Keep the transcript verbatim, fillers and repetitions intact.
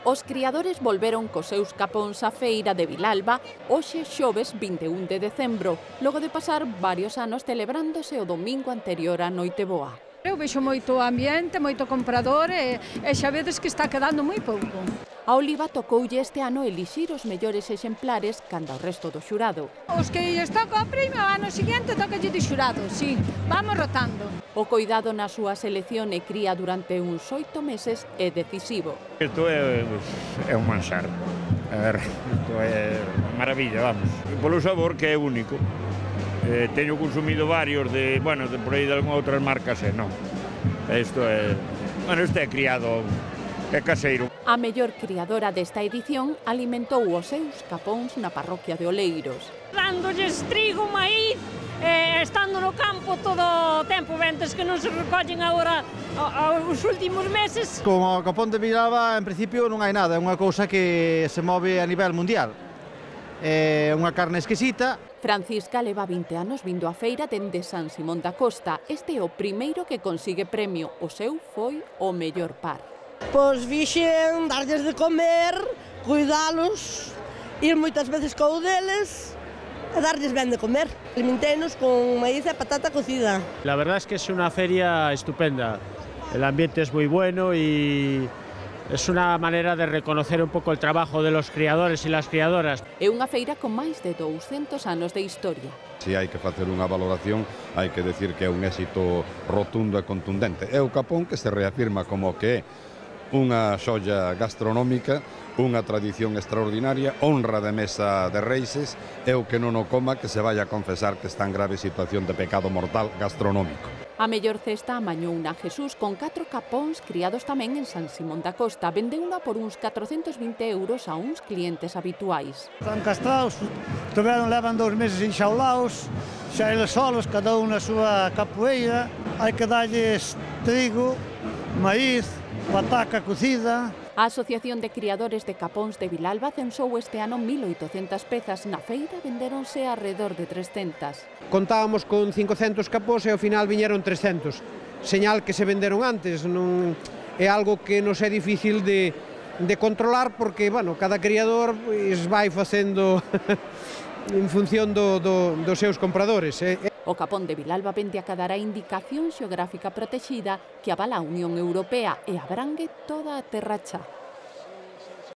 Os criadores volveron cos seus capóns á feira de Vilalba hoxe xoves vinte e un de decembro, logo de pasar varios anos celebrándose o domingo anterior á Noiteboa. Eu vexo moito ambiente, moito comprador e, e xa vedes que está quedando moi pouco. A Oliva tocoulle este ano elixir os mellores exemplares canda o resto do xurado. Os que lles toca o premio, o ano seguinte tocalle de xurado, sí, vamos rotando. O coidado na súa selección e cría durante uns oito meses é decisivo. Isto é, é un manxar, a ver, isto é maravilla, vamos. Polo sabor que é único. Eh, teño consumido varios de, bueno, de por aí de algunha outras marcas e non. Isto é, bueno, isto é criado, é caseiro. A mellor criadora desta edición alimentou os seus capóns na parroquia de Oleiros. Dándolles trigo, maíz, eh, estando no campo todo o tempo, ventes que non se recollen agora os últimos meses. Como o capón de Vilalba, en principio non hai nada, é unha cousa que se move a nivel mundial. É unha carne exquisita. Francisca leva vinte anos vindo á feira dende San Simón da Costa. Este é o primeiro que consigue premio. O seu foi o mellor par. Pois vixen darlles de comer, cuidalos, ir moitas veces co deles e darlles ben de comer. Alimentenos con maíz e patata cocida. La verdad es que es una feria estupenda. El ambiente es muy bueno y es una manera de reconocer un poco el trabajo de los criadores y las criadoras. É unha feira con máis de douscentos anos de historia. Se hai que facer unha valoración, hai que decir que é un éxito rotundo e contundente. É o capón que se reafirma como que é unha xolla gastronómica, unha tradición extraordinaria, honra de mesa de Reixes, e o que non o coma que se vai a confesar que está en grave situación de pecado mortal gastronómico. A mellor cesta amañou na Jesús con catro capóns criados tamén en San Simón da Costa. Vendeuna por uns catrocentos vinte euros a uns clientes habituais. Están castrados, toveron, levan dous meses enxaulados, xa eles solos, cada un na súa capoeira, hai que darlles trigo, maíz, pataca cocida. A Asociación de Criadores de Capóns de Vilalba censou este ano mil oitocentas pezas. Na feira vendéronse alrededor de trescentas. Contábamos con cincocentos capós e ao final viñeron trescentos. Señal que se venderon antes, non é algo que nos é difícil de, de controlar porque, bueno, cada criador pois, vai facendo en función do, do, dos seus compradores. Eh? O capón de Vilalba vende a cadar a indicación xeográfica protexida que avala a Unión Europea e abrangue toda a Terra Chá.